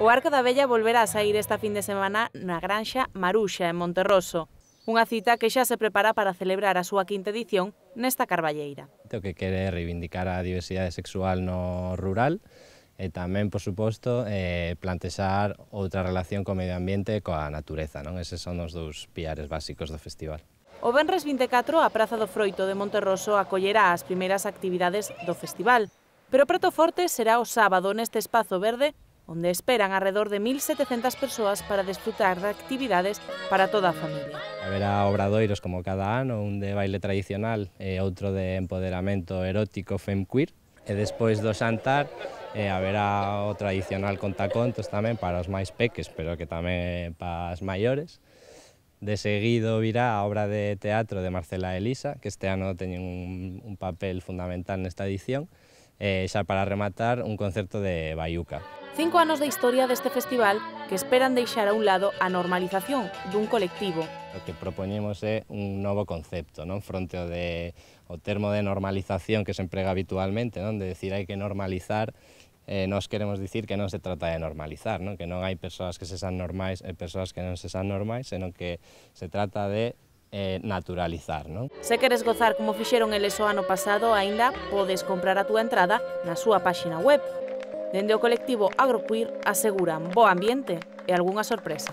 O Arco da Vella volverá a saír esta fin de semana na Granxa Maruxa, en Monterroso. Unha cita que xa se prepara para celebrar a súa quinta edición nesta carballeira. O que quere reivindicar a diversidade sexual no rural e tamén, por suposto, plantexar outra relación co medio ambiente e coa natureza, non? Eses son os dous piares básicos do festival. O venres 24, a Praza do Froito de Monterroso acollerá as primeiras actividades do festival, pero o prato forte será o sábado neste espazo verde onde esperan alrededor de 1.700 persoas para desfrutar de actividades para toda a familia. Haberá obradoiros como cada ano, un de baile tradicional e outro de empoderamento erótico femqueer, e despois do xantar haberá o tradicional contacontos tamén para os máis peques, pero que tamén para as maiores. De seguido virá a obra de teatro de Marcela e Elisa, que este ano teñen un papel fundamental nesta edición, e xa para rematar un concerto de baiuca. 5 anos de historia deste festival que esperan deixar a un lado a normalización dun colectivo. O que propoñemos é un novo concepto, non? Fronte ao termo de normalización que se emprega habitualmente, non? De decir hai que normalizar, nós queremos dicir que non se trata de normalizar, non? Que non hai persoas que se san normais e persoas que non se san normais, senón que se trata de naturalizar, non? Se queres gozar como fixeron eles o ano pasado, aínda podes comprar a túa entrada na súa páxina web. Dende o colectivo Agroqueer aseguran bo ambiente e algunha sorpresa.